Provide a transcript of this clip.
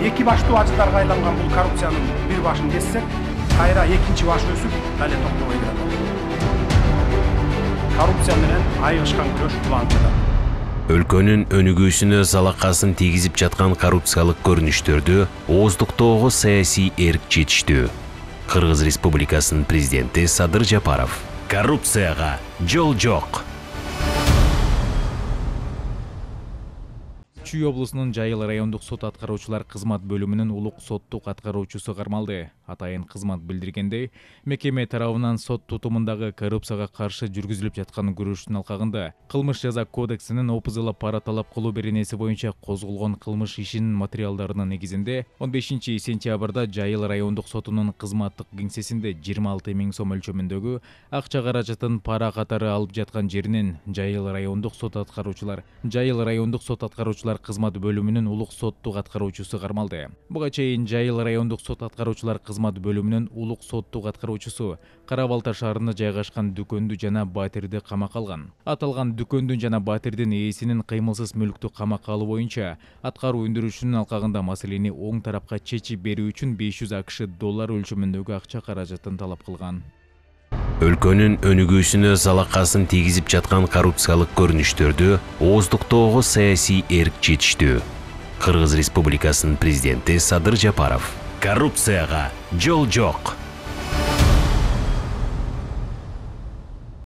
эки баштуу ажыттарга айланган бул коррупциянын бир башын кессек, кайра экинчи баш өсүп, дале токтобой келет. Коррупция менен айыгышкан күрөш улантылат. Өлкөнүн өнүгүүсүнө залакасын тийгизип жаткан коррупциялык көрүнүштөрдү ооздуктоого саясий эрк жетиштүү. Кыргыз Республикасынын президенти Садыр Жапаров: коррупцияга жол жок. Чүй облусунун Жайыл райондук сот аткаруучулар кызмат бөлүмүнүн улук соттук аткаруучусу кармалды. Атайын кызмат билдиргендей, мекеме тарабынан сот тутумундагы коррупцияга каршы жүргүзүлүп жаткан күрөштүн алкагында Кылмыш жаза кодексинин опузула пара талап кылуу беренеси боюнча козголгон кылмыш ишинин материалдарынын негизинде 15 сентябрда Жайыл райондук сотунун кызматтык кеңсесинде 26 000 сом өлчөмүндөгү акча каражатын пара катары алып жаткан жеринен Жайыл райондук сот аткаруучулар кызмат бөлүмүнүн улук соттук аткаруучусу кармалды. Буга чейин Жайыл райондук сот аткаруучулар кызмат бөлүмүнүн улук соттук аткаруучусу Кара Балта шаарында жайгашкан дүкөндү жана батирди камакка алган. Аталган дүкөндүн жана батирдин ээсинин кыймылсыз мүлктү камакка алуу боюнча аткаруу өндүрүшүнүн алкагында маселени оң тарапка чечип берүү үчүн $500 акш өлчөмүндөгү акча каражатын талап кылган. Өлкөнүн өнүгүүсүнө залакасын тийгизип жаткан коррупциялык көрүнүштөрдү ооздуктоого саясий эрк жетиштүү. Кыргыз Республикасынын президенти Садыр Жапаров: коррупцияга жол жок.